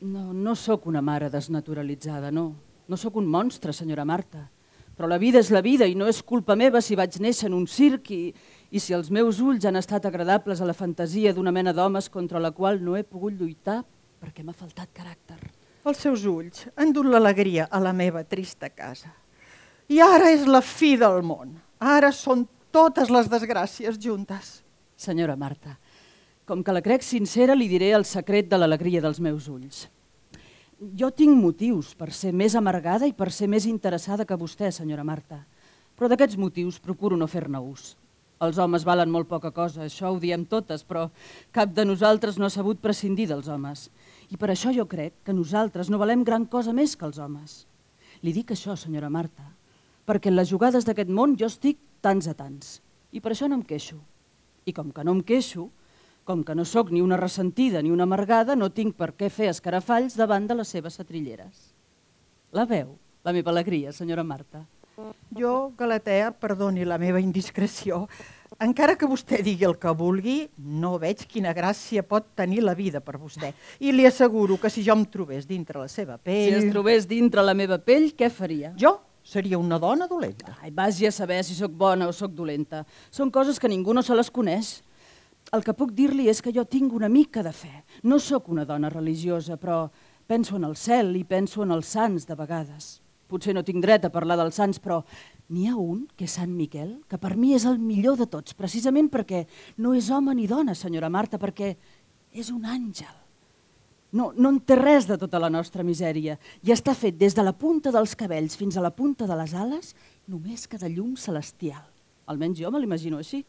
No, no sóc una mare desnaturalitzada, no. No sóc un monstre, senyora Marta. Però la vida és la vida i no és culpa meva si vaig néixer en un circ i si els meus ulls han estat agradables a la fantasia d'una mena d'homes contra la qual no he pogut lluitar perquè m'ha faltat caràcter. Els seus ulls han dut l'alegria a la meva trista casa. I ara és la fi del món. Ara són totes les desgràcies juntes. Senyora Marta, com que la crec sincera, li diré el secret de l'alegria dels meus ulls. Jo tinc motius per ser més amargada i per ser més interessada que vostè, senyora Marta. Però d'aquests motius procuro no fer-ne ús. Els homes valen molt poca cosa, això ho diem totes, però cap de nosaltres no ha sabut prescindir dels homes. I per això jo crec que nosaltres no valem gran cosa més que els homes. Li dic això, senyora Marta, perquè en les jugades d'aquest món jo estic tants a tants. I per això no em queixo. I com que no em queixo, com que no sóc ni una ressentida ni una amargada, no tinc per què fer escarafalls davant de les seves setrilleres. La veu, la meva alegria, senyora Marta. Jo, Galatea, perdoni la meva indiscreció, encara que vostè digui el que vulgui, no veig quina gràcia pot tenir la vida per vostè. I li asseguro que si jo em trobés dintre la seva pell... Si es trobés dintre la meva pell, què faria? Jo seria una dona dolenta. Ai, vagi a saber si sóc bona o sóc dolenta. Són coses que ningú no se les coneix. El que puc dir-li és que jo tinc una mica de fe. No sóc una dona religiosa, però penso en el cel i penso en els sants de vegades. Potser no tinc dret a parlar dels sants, però n'hi ha un, que és Sant Miquel, que per mi és el millor de tots, precisament perquè no és home ni dona, senyora Marta, perquè és un àngel. No en té res de tota la nostra misèria i està fet des de la punta dels cabells fins a la punta de les ales només que de llum celestial. Almenys jo me l'imagino així.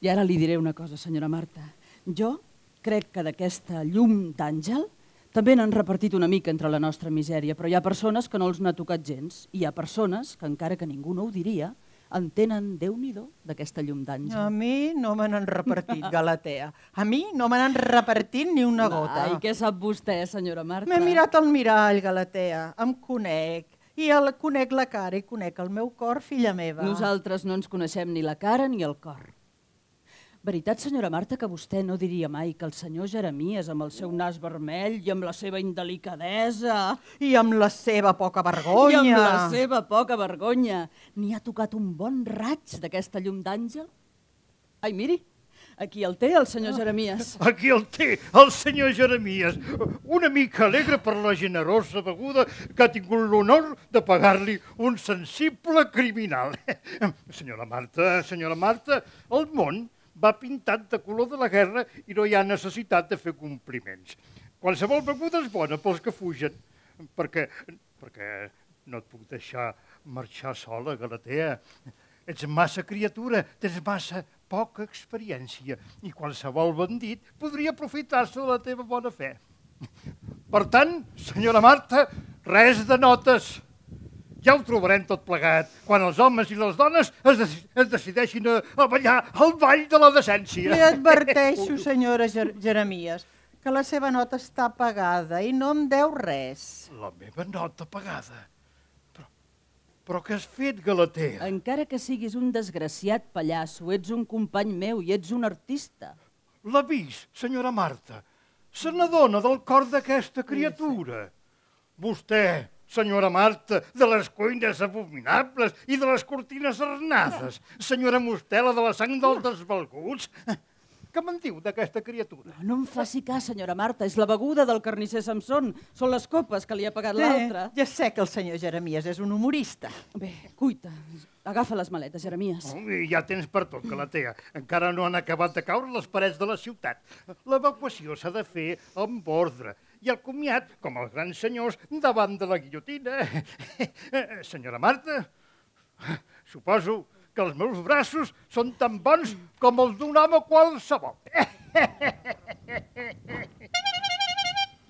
I ara li diré una cosa, senyora Marta. Jo crec que d'aquesta llum d'àngel també n'han repartit una mica entre la nostra misèria, però hi ha persones que no els n'ha tocat gens i hi ha persones que, encara que ningú no ho diria, en tenen Déu-n'hi-do d'aquesta llum d'àngel. A mi no me n'han repartit, Galatea. A mi no me n'han repartit ni una gota. I què sap vostè, senyora Marta? M'he mirat al mirall, Galatea. Em conec. I conec la cara i conec el meu cor, filla meva. Nosaltres no ens coneixem ni la cara ni el cor. Veritat, senyora Marta, que vostè no diria mai que el senyor Jeremies, amb el seu nas vermell i amb la seva indelicadesa... I amb la seva poca vergonya... I amb la seva poca vergonya, n'hi ha tocat un bon raig d'aquesta llum d'àngel? Ai, miri, aquí el té, el senyor Jeremies. Aquí el té, el senyor Jeremies. Una mica alegre per la generosa beguda que ha tingut l'honor de pagar-li un sensible criminal. Senyora Marta, el món va pintat de color de la guerra i no hi ha necessitat de fer compliments. Qualsevol beguda és bona pels que fugen, perquè no et puc deixar marxar sola, Galatea. Ets massa criatura, tens massa poca experiència i qualsevol bandit podria aprofitar-se de la teva bona fe. Per tant, senyora Marta, res de notes. Ja ho trobarem tot plegat, quan els homes i les dones es decideixin a ballar el ball de la decència. Li adverteixo, senyora Jeremies, que la seva nota està pagada i no em deu res. La meva nota pagada? Però què has fet, Galatea? Encara que siguis un desgraciat pallasso, ets un company meu i ets un artista. L'ha vist, senyora Marta? Se n'adona del cor d'aquesta criatura. Vostè, senyora Marta, de les cuines abominables i de les cortines arnades. Senyora Mostela, de la sang dels desvalguts. Què me'n diu d'aquesta criatura? No em faci cas, senyora Marta, és la beguda del carnisser Samson. Són les copes que li ha pagat l'altre. Ja sé que el senyor Jeremies és un humorista. Bé, cuita, agafa les maletes, Jeremies. Ja tens per tot, Galatea. Encara no han acabat de caure les parets de la ciutat. L'evacuació s'ha de fer amb ordre. I el comiat, com els grans senyors, davant de la guillotina. Senyora Marta, suposo que els meus braços són tan bons com els d'un home qualsevol.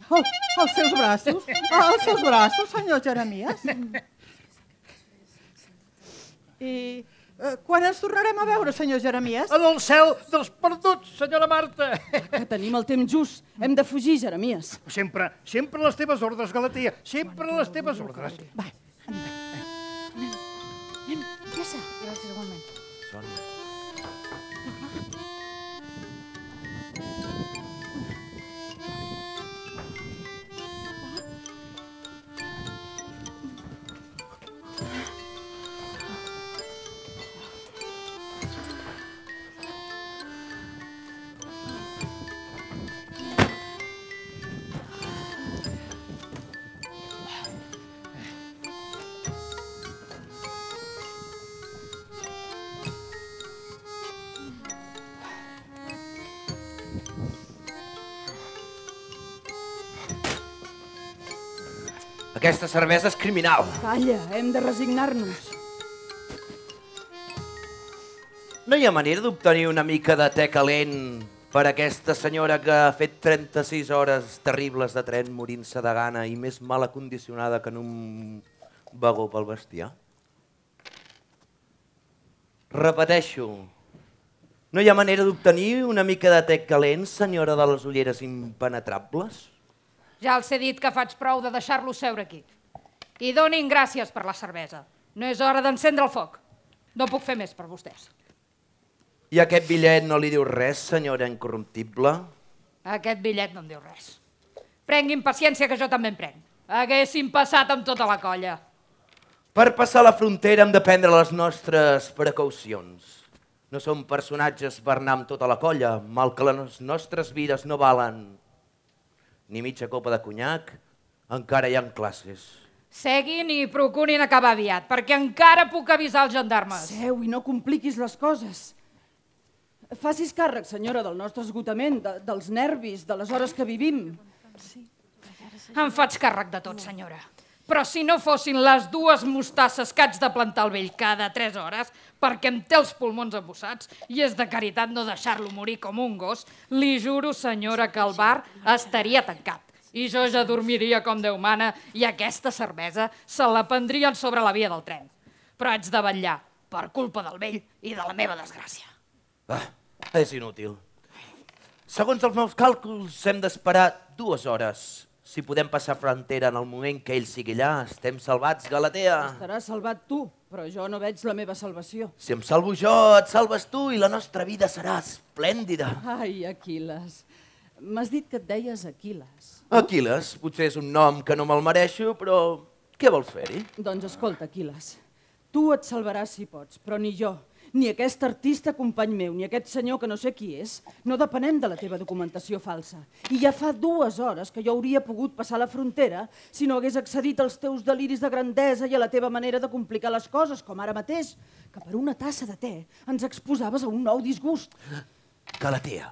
Els seus braços? Els seus braços, senyor Jeremies? I quan ens tornarem a veure, senyor Jeremies? En el cel dels perduts, senyora Marta. Que tenim el temps just. Hem de fugir, Jeremies. Sempre a les teves ordres, Galatea. Sempre a les teves ordres. Va, anem. Pressa. Gràcies, igualment. Aquesta cervesa és criminal. Calla, hem de resignar-nos. No hi ha manera d'obtenir una mica de te calent per aquesta senyora que ha fet 36 hores terribles de tren morint-se de gana i més mal acondicionada que en un vagó pel bestiar? Repeteixo, no hi ha manera d'obtenir una mica de te calent, senyora de les ulleres impenetrables? Ja els he dit que faig prou de deixar-lo seure aquí. I donin gràcies per la cervesa. No és hora d'encendre el foc. No puc fer més per vostès. I aquest bitllet no li diu res, senyora incorruptible? Aquest bitllet no em diu res. Prenguin paciència, que jo també en prenc. Haguéssim passat amb tota la colla. Per passar la frontera hem de prendre les nostres precaucions. No som personatges per anar amb tota la colla, mal que les nostres vides no valen ni mitja copa de conyac, encara hi ha classes. Seguin i procurin acabar aviat, perquè encara puc avisar els gendarmes. Seu i no compliquis les coses. Facis càrrec, senyora, del nostre esgotament, dels nervis, de les hores que vivim. Em faig càrrec de tot, senyora. Però si no fossin les 2 mostasses que haig de plantar al vell cada 3 hores, perquè em té els pulmons embossats i és de caritat no deixar-lo morir com un gos, li juro, senyora, que el bar estaria tancat. I jo ja dormiria com Déu mana i aquesta cervesa se la prendrien sobre la via del tren. Però haig de vetllar per culpa del vell i de la meva desgràcia. És inútil. Segons els meus càlculs, hem d'esperar 2 hores. Si podem passar frontera en el moment que ell sigui allà, estem salvats, Galatea. Estaràs salvat tu, però jo no veig la meva salvació. Si em salvo jo, et salves tu i la nostra vida serà esplèndida. Ai, Aquil·les. M'has dit que et deies Aquil·les. Aquil·les, potser és un nom que no me'l mereixo, però què vols fer-hi? Doncs escolta, Aquil·les, tu et salvaràs si pots, però ni jo, ni aquest artista company meu, ni aquest senyor que no sé qui és, no depenem de la teva documentació falsa. I ja fa 2 hores que jo hauria pogut passar la frontera si no hagués accedit als teus deliris de grandesa i a la teva manera de complicar les coses, com ara mateix, que per una tassa de te ens exposaves a un nou disgust. Galatea,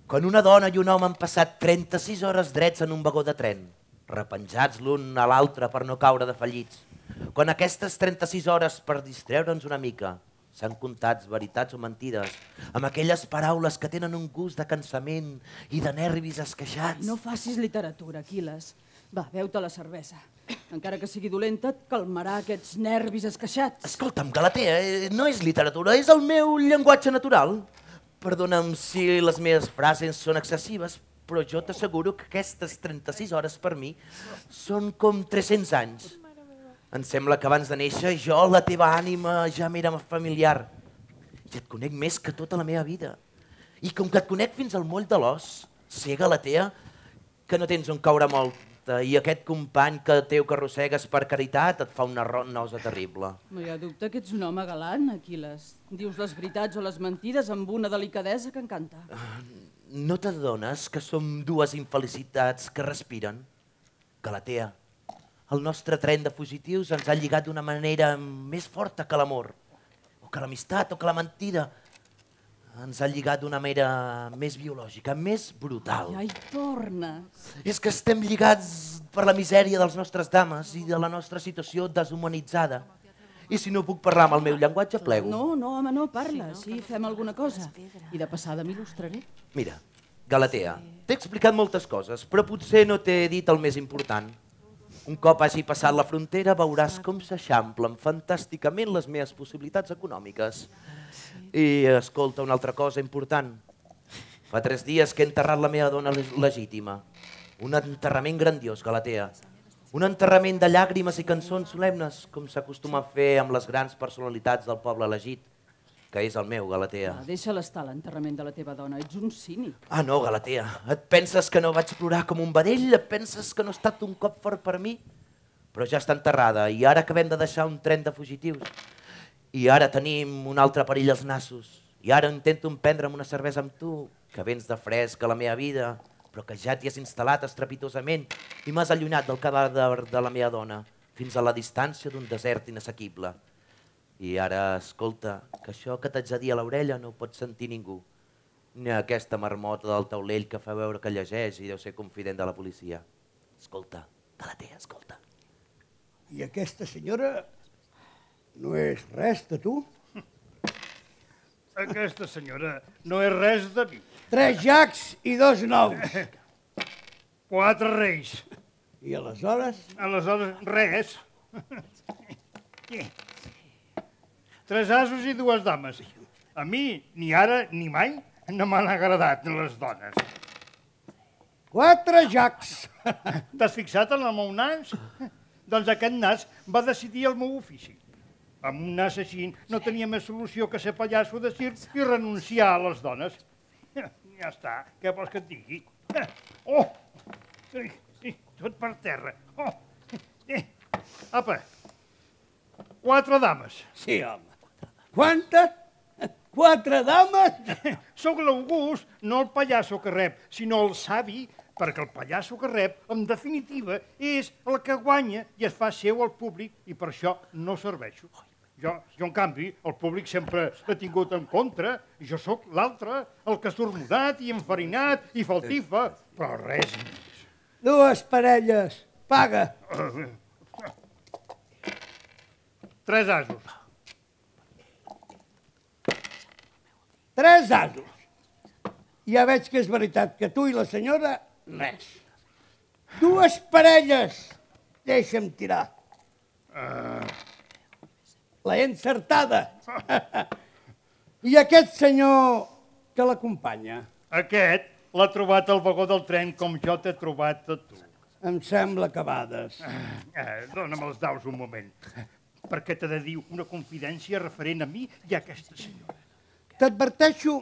quan una dona i un home han passat 36 hores drets en un vagó de tren, repenjats l'un a l'altre per no caure de fallits, quan aquestes 36 hores per distreure'ns una mica s'han contat veritats o mentides, amb aquelles paraules que tenen un gust de cansament i de nervis esqueixats. No facis literatura, Aquil·les. Va, beu-te la cervesa. Encara que sigui dolenta, et calmarà aquests nervis esqueixats. Escolta'm, Galatea, no és literatura, és el meu llenguatge natural. Perdona'm si les meves frases són excessives, però jo t'asseguro que aquestes 36 hores per mi són com 300 anys. Em sembla que abans de néixer jo, la teva ànima, ja m'era familiar. I et conec més que tota la meva vida. I com que et conec fins al moll de l'os, sé, Galatea, que no tens on caure molta i aquest company que teu que arrossegues per caritat et fa una nosa terrible. No hi ha dubte que ets un home galant, Aquil·les. Dius les veritats o les mentides amb una delicadesa que encanta. No t'adones que som 2 infelicitats que respiren? Galatea, el nostre tren de fugitius ens ha lligat d'una manera més forta que l'amor, o que l'amistat, o que la mentida. Ens ha lligat d'una manera més biològica, més brutal. Ai, tornes. És que estem lligats per la misèria dels nostres dames i de la nostra situació deshumanitzada. I si no puc parlar amb el meu llenguatge, plego. No, home, no, parla. Sí, fem alguna cosa. I de passada m'il·lustraré. Mira, Galatea, t'he explicat moltes coses, però potser no t'he dit el més important. Un cop hagi passat la frontera veuràs com s'eixamplen fantàsticament les meves possibilitats econòmiques. I escolta, una altra cosa important. Fa 3 dies que he enterrat la meva dona legítima. Un enterrament grandiós, Galatea. Un enterrament de llàgrimes i cançons solemnes, com s'acostuma a fer amb les grans personalitats del poble elegit, que és el meu, Galatea. Deixa-la estar, l'enterrament de la teva dona. Ets un cínic. Ah, no, Galatea. Et penses que no vaig plorar com un vedell? Et penses que no ha estat un cop fort per mi? Però ja està enterrada i ara acabem de deixar un tren de fugitius. I ara tenim un altre perill als nassos. I ara intento emprendre'm una cervesa amb tu, que vens de fresc a la meva vida, però que ja t'hi has instal·lat estrepitosament i m'has allunyat del cadàver de la meva dona fins a la distància d'un desert inassequible. I ara, escolta, que això que t'haig de dir a l'orella no ho pot sentir ningú. Ni aquesta marmota del taulell que fa veure que llegeix i deu ser confident de la policia. Escolta, Galatea, escolta. I aquesta senyora no és res de tu? Aquesta senyora no és res de mi. 3 jacs i 2 nous. 4 reis. I aleshores? Aleshores, res. 3 asos i 2 dames. A mi, ni ara ni mai, no m'han agradat les dones. 4 jacs. T'has fixat en el meu nas? Doncs aquest nas va decidir el meu ofici. Amb un nas així no tenia més solució que ser pallasso de circ i renunciar a les dones. Ja està, què vols que et digui? Oh! Tot per terra. Oh! Apa, 4 dames. Sí, home. Quantes? 4 dames? Sóc l'August, no el pallasso que rep, sinó el savi, perquè el pallasso que rep, en definitiva, és el que guanya i es fa seu al públic i per això no serveixo. Jo, en canvi, el públic sempre l'he tingut en contra i jo sóc l'altre, el que surt mudat i enfarinat i faltifa, però res més. 2 parelles. Paga. 3 asos. 3 asos. Ja veig que és veritat que tu i la senyora, res. 2 parelles. Deixa'm tirar. L'he encertada. I aquest senyor que l'acompanya? Aquest l'ha trobat al vagó del tren com jo t'he trobat a tu. Em sembla que bades. Dóna'm els daus un moment, perquè t'he de dir una confidència referent a mi i a aquesta senyora. T'adverteixo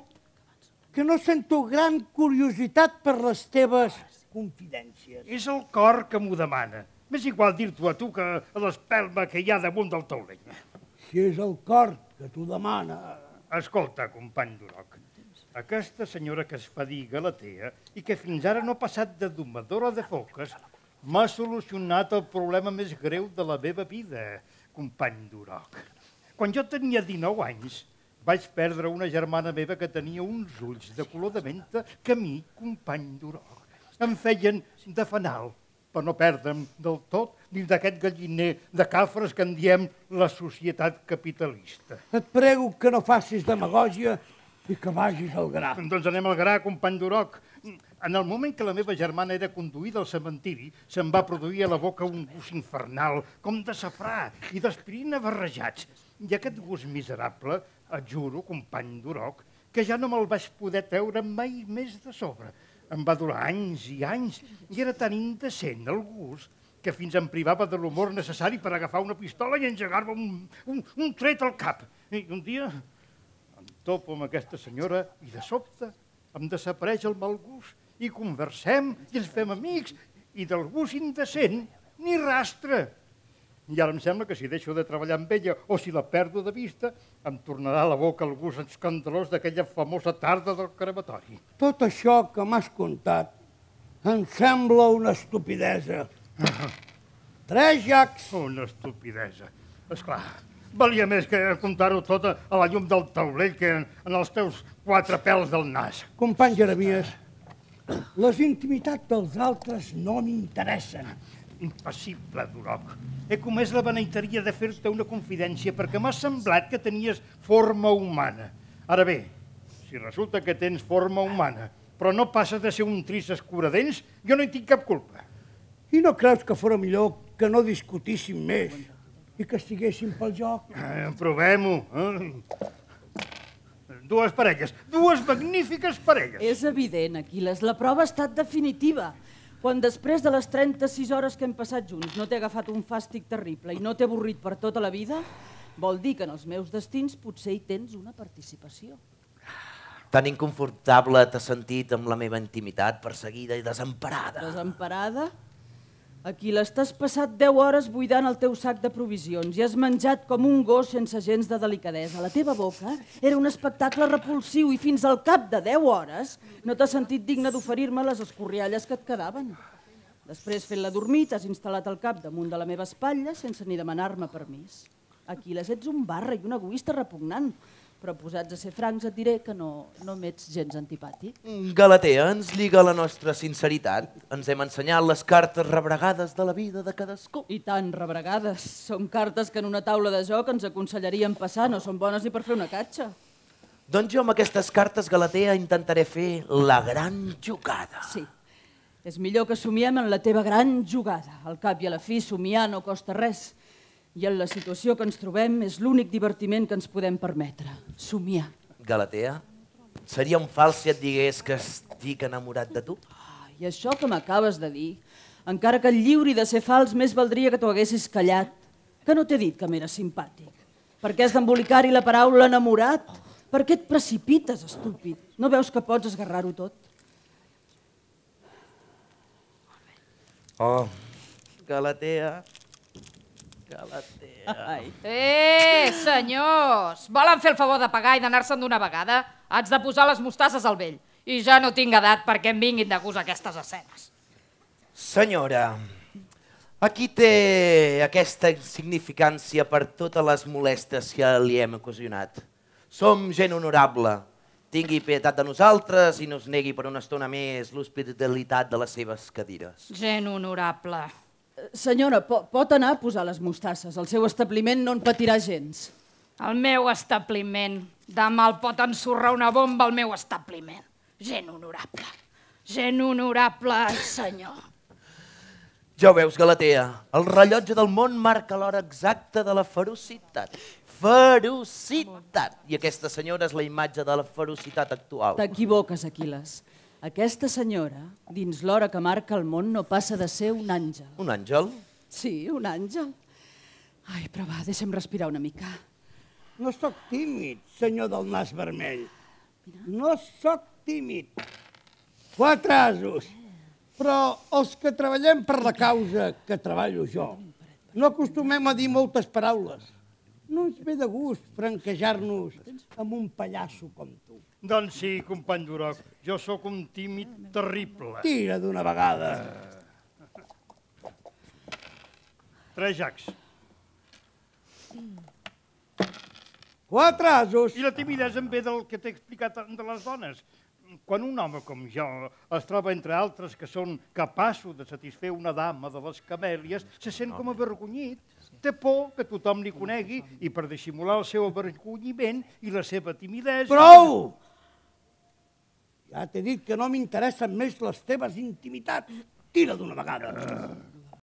que no sento gran curiositat per les teves confidències. És el cor que m'ho demana. M'és igual dir-t'ho a tu que a l'espelma que hi ha damunt del taulell. Si és el cor que t'ho demana... Escolta, company Duroc, aquesta senyora que es fa dir Galatea i que fins ara no ha passat de domadora de foques m'ha solucionat el problema més greu de la meva vida, company Duroc. Quan jo tenia 19 anys, vaig perdre una germana meva que tenia uns ulls de color de menta que a mi, company Duroc, em feien de fanal, per no perdre'm del tot dins d'aquest galliner de cafres que en diem la societat capitalista. Et prego que no facis demagògia i que vagis al gra. Doncs anem al gra, company Duroc. En el moment que la meva germana era conduïda al cementiri, se'm va produir a la boca un gust infernal, com de safrà i d'aspirina barrejats. I aquest gust miserable, et juro, company Duroc, que ja no me'l vaig poder treure mai més de sobre. Em va durar anys i anys i era tan indecent el gust que fins em privava de l'humor necessari per agafar una pistola i engegar-me un tret al cap. I un dia em topo amb aquesta senyora i de sobte em desapareix el mal gust i conversem i ens fem amics i del gust indecent ni rastre. I ara em sembla que si deixo de treballar amb ella o si la perdo de vista, em tornarà a la boca el gust escandalós d'aquella famosa tarda del crematori. Tot això que m'has contat em sembla una estupidesa. 3 jacs. Una estupidesa. Esclar, valia més que contar-ho tot a la llum del taulell que en els teus 4 pèls del nas. Company Jeremies, les intimitats dels altres no m'interessen. Impassible, Duroc. He comès la beneiteria de fer-te una confidència perquè m'ha semblat que tenies forma humana. Ara bé, si resulta que tens forma humana, però no passes de ser un trist escuradents, jo no hi tinc cap culpa. I no creus que fora millor que no discutíssim més i que estiguéssim pel joc? Provem-ho. 2 parelles, 2 magnífiques parelles. És evident, Aquil·les, la prova ha estat definitiva. Quan després de les 36 hores que hem passat junts no t'he agafat un fàstic terrible i no t'he avorrit per tota la vida, vol dir que en els meus destins potser hi tens una participació. Tan inconfortable t'has sentit amb la meva intimitat, perseguida i desemparada. Desemparada? Aquil·les, t'has passat 10 hores buidant el teu sac de provisions i has menjat com un gos sense gens de delicadesa. La teva boca era un espectacle repulsiu i fins al cap de 10 hores no t'has sentit digne d'oferir-me les escorrialles que et quedaven. Després, fent-la dormir, t'has instal·lat el cap damunt de la meva espatlla sense ni demanar-me permís. Aquil·les, ets un barra i un egoista repugnant. Però posats a ser francs et diré que no m'ets gens antipàtic. Galatea ens lliga la nostra sinceritat. Ens hem ensenyat les cartes rebregades de la vida de cadascú. I tan rebregades. Són cartes que en una taula de joc ens aconsellarien passar, no són bones ni per fer una catxa. Doncs jo amb aquestes cartes, Galatea, intentaré fer la gran jugada. Sí, és millor que somiem en la teva gran jugada. Al cap i a la fi, somiar no costa res. I en la situació que ens trobem és l'únic divertiment que ens podem permetre, somiar. Galatea, seria un fals si et digués que estic enamorat de tu? I això que m'acabes de dir, encara que et lliuri de ser fals, més valdria que t'ho haguessis callat, que no t'he dit que m'era simpàtic. Per què has d'embolicar-hi la paraula enamorat? Per què et precipites, estúpid? No veus que pots esgarrar-ho tot? Oh, Galatea... Ai. Senyors! Volen fer el favor de pagar i d'anar-se'n d'una vegada? Haig de posar les mostasses al vell. I ja no tinc edat perquè em vinguin de gust aquestes escenes. Senyora, aquí té aquesta insignificància per totes les molèsties que li hem ocasionat. Som gent honorable. Tingui pietat de nosaltres i no es negui per una estona més l'hospitalitat de les seves cadires. Gent honorable. Senyora, pot anar a posar les mostasses. El seu establiment no en patirà gens. El meu establiment. Demà el pot ensorrar una bomba al meu establiment. Gent honorable. Gent honorable, senyor. Ja ho veus, Galatea, el rellotge del món marca l'hora exacta de la ferocitat. Ferocitat! I aquesta senyora és la imatge de la ferocitat actual. T'equivoques, Aquil·les. Aquesta senyora, dins l'hora que marca el món, no passa de ser un àngel. Un àngel? Sí, un àngel. Ai, però va, deixa'm respirar una mica. No sóc tímid, senyor del nas vermell. No sóc tímid. 4 asos. Però els que treballem per la causa que treballo jo, no acostumem a dir moltes paraules. No ens ve de gust franquejar-nos amb un pallasso com tu. Doncs sí, company Duroc, jo sóc un tímid terrible. Tira d'una vegada. 3 jacs. 4 asos. I la timidesa em ve del que t'he explicat de les dones. Quan un home com jo es troba entre altres que són capaços de satisfer una dama de les camèlies, se sent com avergonyit. Té por que tothom li conegui i per dissimular el seu avergonyiment i la seva timidesa... Prou! Ja t'he dit que no m'interessen més les teves intimitats. Tira d'una vegada.